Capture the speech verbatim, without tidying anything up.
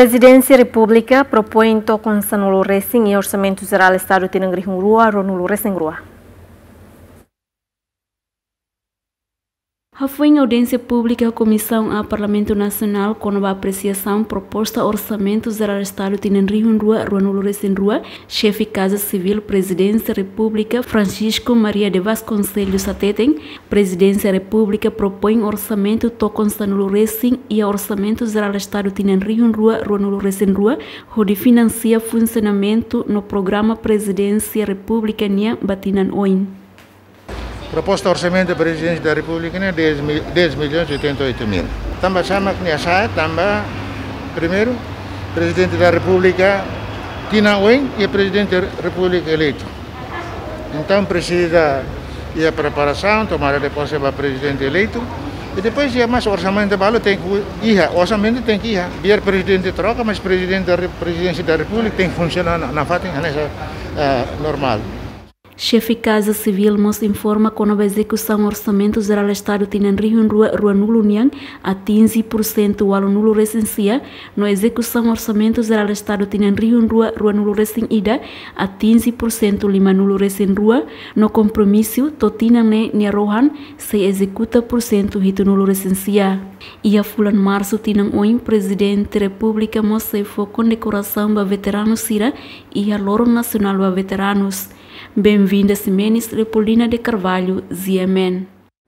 Prezidénsia Repúblika propoin tokon sanulu resin iha Orsamentu Jerál Estadu tinan rihun rua ruanulu resin rua. Hafoin audiénsia públika Komisaun A Parlamentu Nasionál kona-ba apresiasaun proposta Orsamentu Jerál Estadu tinan rihun rua ruanulu resin rua, Xefe Kaza Sivíl Prezidénsia Repúblika Francisco Maria de Vasconcelos hateten, Prezidénsia Repúblika propoin orsamentu tokon sanulu resin iha Orsamentu Jerál Estadu tinan rihun rua ruanulu resin rua, hodi finansia funsionamentu no programa Prezidénsia Repúblika nian ba tinan oin. Proposta orsamentu Prezidénsia da Repúblika ne'e dez mil, dez milhões oitenta e oito mil. Tanba sá mak nia sa'e, tanba, primeiru, Prezidente da Repúblika tinan oin iha Prezidente Repúblika eleitu. Entaun presiza iha preparasaun, tomada de pose ba Prezidente eleitu. I depois iha mais orsamentu balu tenke iha, orsamentu tenke iha. Biar Prezidente troka, mas Prezidente da Re-, Prezidénsia da Repúblika tenke funsiona na, nafatin hanesan, eh, normál. Xefe Kaza Sivíl mós informa kona-ba ezekusaun Orsamentu Jerál Estadu tinan rihun rua ruanulu nian atinje pursentu ualunulu resin sia, no ezekusaun Orsamentu Jerál Estadu tinan rihun rua ruanulu resin ida atinje pursentu limanulu resin rua, no kompromisu to'o tinan ne'e nia rohan sei ezekuta pursentu hitunulu resin sia. Iha fulan Marsu tinan oin, Prezidente Repúblika mós sei fó kondekorasaun ba veteranu sira iha Loron Nasionál ba Veteranus. Benvinda Ximenes, Leopoldina de Carvalho, G M N.